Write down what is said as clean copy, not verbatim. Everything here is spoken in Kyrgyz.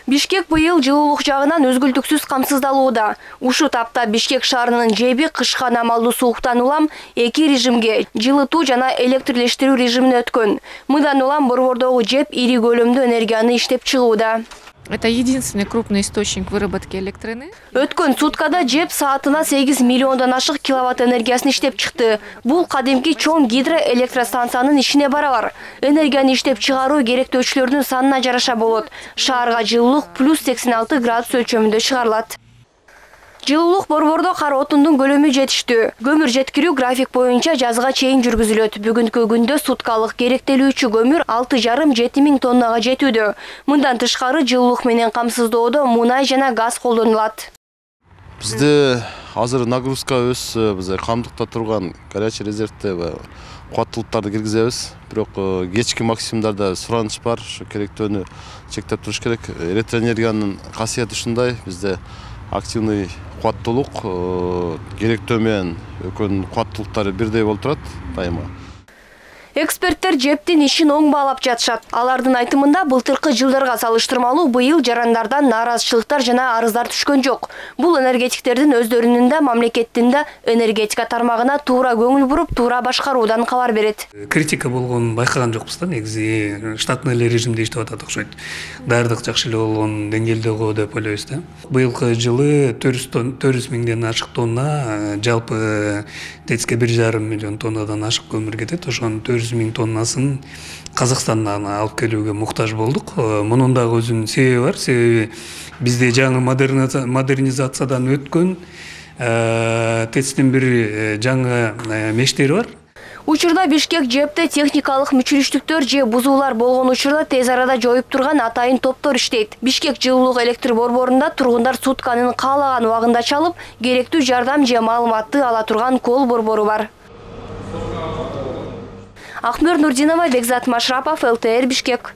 Бишкек быйыл жылуулук жагынан өзгүлтүксүз камсыздалууда. Ушул тапта Бишкек шаарынын жеби кышка намалдуу сууктан улам 2 режимге жылытуу жана электрлештирүү режимине өткөн. Мындан улам борбордогу жеп ири көлөмдө энергияны иштеп чыгууда. Это единственный крупный источник выработки электроэнергии. Өткөн суткада жеп саатына 8 миллиондон ашык киловатт энергиясын иштеп чыкты. Бул кадимки чоң гидроэлектростанциянын ишине барабар. Энергияны иштеп чыгаруу керектөөчүлөрдүн санына жараша болот. Шаарга жылуулук плюс 86 градус өлчөмүндө чыгарылат. Жылуулук борбордо кара отундун көлөмү жетиштүү. Көмүр жеткирүү график боюнча жазга чейин жүргүзүлөт. Бүгүнкү күндө суткалык керектелүүчү көмүр 6,5–7 миң тоннага жетүүдө. Мындан тышкары жылуулук менен камсыздоодо мунай жана газ колдонулат. Бизде азыр нагрузка өз биз камдыкта турган горячий резервде кубаттуулуктарды киргизебиз. Бирок кечки максимумдарда сураныч бар. Ошо керектөөнү чектеп туруш керек. Электроэнергиянын касиети ушундай. Бизде активный кубаттуулук керектөө менен экөөнүн кубаттуулуктары бирдей болуп турат дайыма. Эксперттер жептин ишин оң баалап жатышат. Алардын айтымында былтыркы жылдарга салыштырмалуу быйыл жарандардан нааразычылыктар жана арыздар түшкөн жок. Бул энергетиктердин өздөрүнүн да мамлекеттин да энергетика тармагына туура көңүл буруп, туура башкаруудан кабар берет. Критика болгонун байкаган жокпуз да, негизи штатный режимде иштеп атат окшойт. Даярдык жакшы эле болгон деңгээлде го деп ойлойбуз да. Быйылкы жылы 400 миңден ашык тонна, жалпы ТЭЦке 1,5 миллион тоннадан ашык көмүр кетет. Ошонун 400 миң тоннасын Казакстандан алып келүүгө муктаж болдук. Мунун дагы өзүнүн себеби бар. Себеби бизде жаңы модернизациядан өткөн ТЭЦтин бир жаңы мештери бар. Учурда Бишкек жепте техникалык мүчүрүштүктөр же бузуулар болгон учурда тез арада жоюп турган атайын топтор иштейт. Бишкек жылуулук электр борборунда тургундар сутканын каалаган убагында чалып, керектүү жардам же маалыматты ала турган кол борбору бар. Ахмер Нурдинова, Бекзат Машрапов, ЛТР Бишкек.